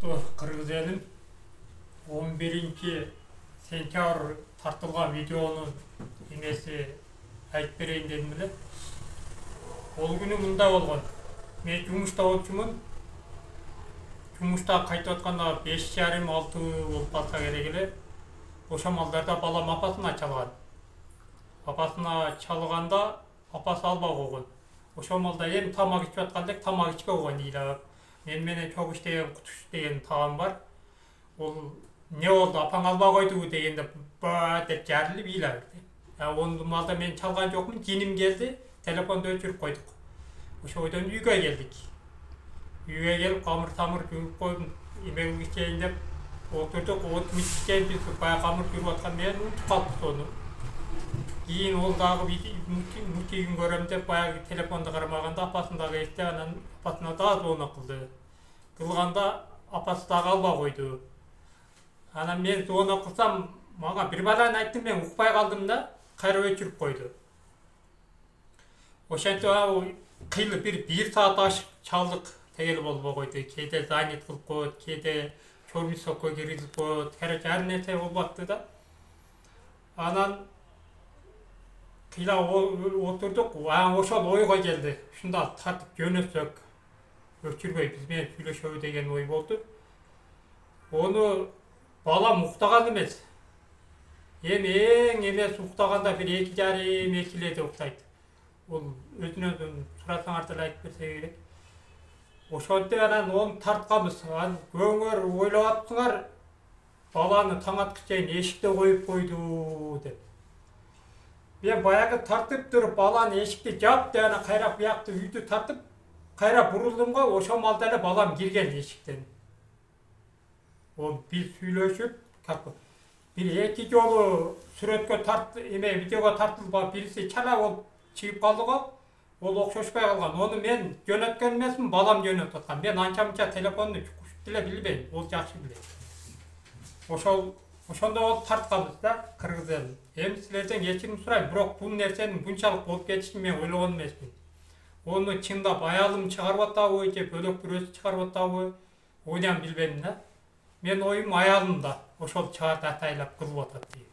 Кыргыз элим 11-сентябрь тартылган видеонун эмеси айтып берейин дедим эле. Ол күнү мындай болгон. Мен жумушта болчумун. Жумушта кайтып атканда 5:30-6 болуп калса керек эле. Ошо малдарда балам апасына чалган. Апасына чалганда апасы албай койгон. Ошо малда эми тамак ичип аткандек тамак ичпей койгон ыйлап. Мен менен чогуш деген Кутуш деген тагам бар. Ол не болду апаң албай койдубу дегенде ба деп жарылып ыйлап берди. Onu малда мен чалган жокмун, жиним келди, телефонду өчүрүп койдук. Ошо бойдон үйгө келдик. Үйгө келип камыр тамыр жууп койдум, эмеге чейин деп отурдук. Отмуш чейин биз баягы камыр жууп аткан мен унутуп калдык сону. Кийин ол дагы мультигин көрөм деп баягы телефонду карамаганда апасын дагы эсте, анан апасына дагы звонок кылды. Кылганда апасы дагы албай койду. Анан мен звонок кылсам, мага бир баланы айттым, мен укпай калдым да, кайра өчүрүп койду. Ошентип кыйlı bir saat ашык чалдык, тегел болбой койду. Кээде занят кылып коет, кээде чормисокко киргизип коет, короче ар нерсе болуп атты да. Анан кыйла отурдук, ошол ойго келди. Ушунда тартып жөнөтсөк, өчүрбөй биз менен сүйлөшөбү деген ой болду. Onu балам уктаган эмес. Эми эң эмес уктаганда бир 2:30-2:00 уктайт. Ол өзүнөн сурасаңар деле айтып берсе керек. Ошентип анан onu тартканбыз. Көңөр ойлоп атсыңар, баланы таң аткыча чейин эшикте коюп койду деп. Мен баягы тартып туруп, баланы эшикти жап деп анан кайра буякты үйдү тартып, кайра бурулдум го, ошол малда эле балам кирген эшиктен. Ол бир сүйлөшүп, бир эки жолу сүрөткө видеого тартылып, бириси чала болуп чыгып калды го. Ол окшошпой калган. Onu мен жөнөткөн эмесмин, балам жөнөтүп аткан. Мен анча-мынча телефонду чукушуп деле билбейм, ол жакшы билет. Ошондо болуп тартканбыз да, кыргыз эл. Эми силерден кечирим сурайм, бирок бул нерсенин мынчалык болуп кетишин мен ойлогон эмесмин. Onu чындап аялым чыгарып атабы же бөлөк бирөөсү чыгарып атабы, ойлам билбейм да. Мен оюм аялым да ошол чыгарды атайлап кылып атат дейм.